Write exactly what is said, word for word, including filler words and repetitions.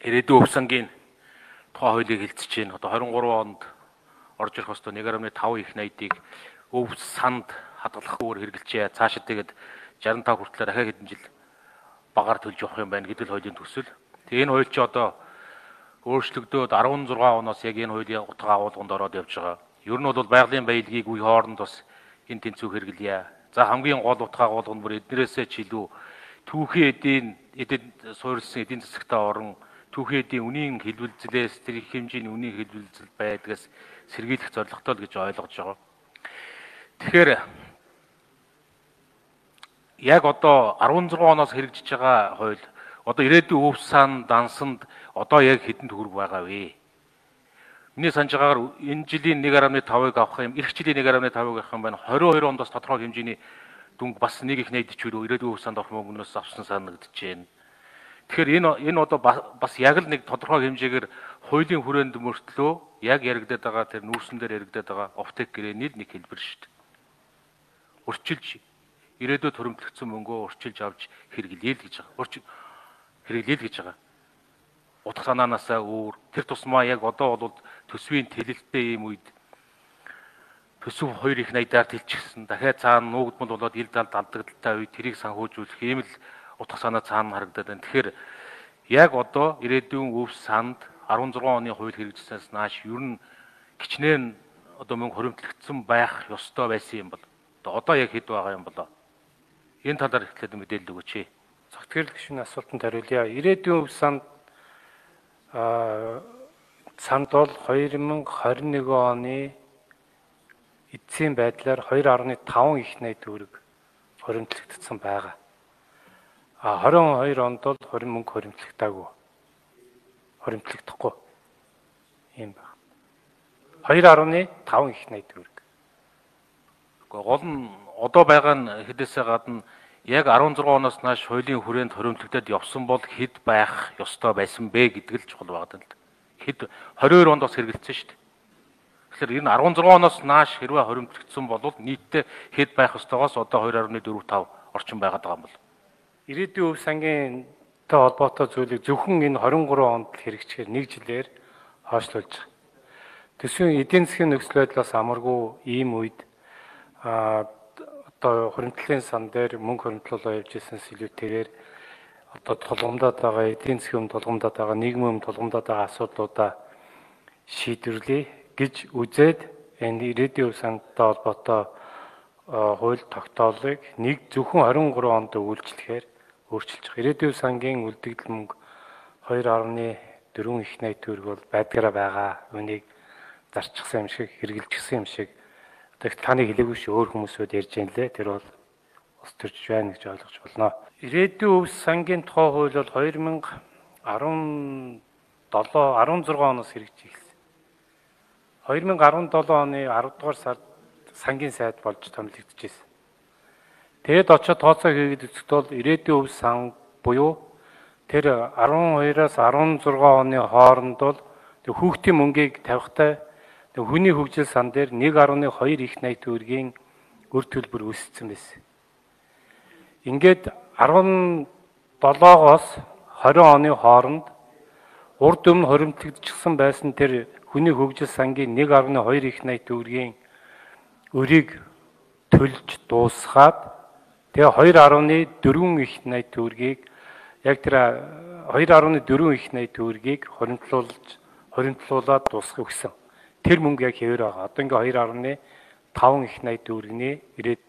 ирээдүйн өв сангийн тухай хуулийг хэлцэж байна. Одоо двадцать три онд орж ирэх хөстөө one point five их найдыг өв санд хадгалахгүйгээр хэрэгжилжээ. Цаашид тэгээд sixty-five хүртэл дахиад хэдэн жил багаар төлж явах юм байна гэдэг л хуулийн төсөл. Тэгээ энэ хууль чи одоо өөрчлөгдөөд sixteen оноос яг энэ хуулийн утга агуулганд ороод явж байгаа. Ер нь бол байгалийн баялагийг үе хооронд бас энэ тэнцвэр хэрэглэе. За хамгийн гол утга агуулга нь бүр эднэрээсээ ч илүү түүхийн эдийн эдэд суурилсан эдийн засагтаа орон түүхийн эдийн үнийн хэлбэлзлээс тэр их хэмжээний үнийн хэлбэлзэл байдгаас сэргийлэх зорилготой л гэж ойлгож байгаа. Тэгэхээр яг одоо sixteen оноос хэрэгжиж байгаа хууль одоо ирээдүйн өв сан дансанд одоо яг хэдэн төгрөг байгаа вэ? Миний санаж байгаагаар энэ жилийн one point five-ыг авах юм, эх жилийн one point five-ыг авах юм байна. twenty-two онд бас тодорхой хэмжээний дүнг бас нэг их найдаж чөлөө ирээдүйн өв санд авах мөнгнөөс авсан санагдаж байна. Тэгэхээр энэ энэ одоо бас яг л нэг тодорхой хэмжээгээр хуулийн хүрээнд мөртлөө яг яригдаад байгаа тэр нүүрсэн дээр яригдаад байгаа офтек гэрээний нэг хэлбэр шүү дээ. Урчилж ирээдүйд хуримтлагдсан мөнгөө урчилж авч хэрэглэе л гэж байгаа. Урчил хэрэглэе л гэж байгаа. Утга санаанаасаа өөр тэр тусмаа яг одоо бол төсвийн тэлэлттэй юм үед төсөв хоёр их найдаар тэлчихсэн. Дахиад цаана нуугдмал болоод ил далд алдагдaltaй үед тэрийг санхүүжүүлэх ийм л утга санаа цаана харагдаад байна. Тэгэхээр яг одоо ирээдүйн өв санд sixteen оны хууль хэрэгжсэнээс нааш ер нь кичнээн одоо мөнгө хуримтлагдсан байх ёстой байсан юм бол одоо яг хэд байгаа юм болоо. Энэ талаар ихлээд мэдээлэл өгөөч. Зөвхөн гишүүний асуултанд хариулъя. Ирээдүйн өв санд санд бол twenty twenty-one оны эцсийн байдлаар two point five их найд төгрөг хуримтлагдсан байгаа. А twenty-two онд бол хорин мөнгө хуримтлагдаагүй. Хуримтлагдахгүй юм байна. two point five их найд төгрөг. Гэхдээ гол нь одоо байгаа нь хэдээсээ гадна яг sixteen оноос нааш хуулийн хүрээнд хуримтлагдаад явсан бол хэд байх ёстой байсан бэ гэдэг л чухал байгаа даа. Хэд twenty-two онд бас хэрэгэлсэн шүү дээ. Тэгэхээр энэ sixteen оноос нааш хэрвээ хуримтлагдсан бол нийтдээ хэд байх ёстойгоос одоо two point four five орчим байгаад байгаа юм бол. Ирээдүйн өв сангийнхтай холбоотой зүйлийг зөвхөн энэ twenty-three онд хэрэгжихээр нэг жилээр хойшлуулж байгаа. Төсвийн эдийн засгийн нөхцөл байдлаас амаргүй ийм үед а одоо хуримтлалын сан дээр мөнгө хуримтлуулаа явж ирсэнс илүүтэйгээр одоо тулгамдаад байгаа эдийн засгийн тулгамдаад байгаа нийгмийн тулгамдаад байгаа асуудлуудаа шийдвэрлэе гэж үзээд энэ ирээдүйн өв сангтай холбоотой хууль тогтоолыг нэг зөвхөн twenty-three онд үйлчлэхээр өөрчилж байгаа. Ирээдүйн сангийн үлдэгдэл мөнгө two point four их найд төгрөг бол байдгаараа байгаа. Үнийг зарчихсан юм шиг, хэрэгжилжсэн юм шиг. Одоо таны хэлээгүй шүү өөр хүмүүсүүд ярьж байна лээ. Тэр бол ус төрж байна гэж ойлгож болно. Ирээдүйн өв сангийн тухай хууль бол two thousand seventeen sixteen оноос хэрэгжиж эхэлсэн. two thousand seventeen оны ten дугаар сард сангийн сайд болж томилогдчихсэн. Тэгэд очоод тооцоо хийгээд үзэхэд бол ирээдүйн өв сан буюу тэр twelve-аас sixteen оны хооронд бол хүүхдийн мөнгийг тавихтай хүний хөгжил сан дээр one point two их найд төгрөгийн үр төлбөр үүссэн байсан. Ингээд seventeen-оос twenty оны хооронд урд өмнө хуримтлагдчихсан байсан тэр хүний хөгжил сангийн one point two их найд төгрөгийн өрийг төлж дуусгаад тэгээ two point four их найд төгрөгийг яг тэр two point four их найд төгрөгийг хуримтлуулж хуримтлуулаад дуусгах гэсэн. Тэр мөнгө яг хэвээр байгаа. Одоо ингээ two point five их найд төгрөгийн ирээд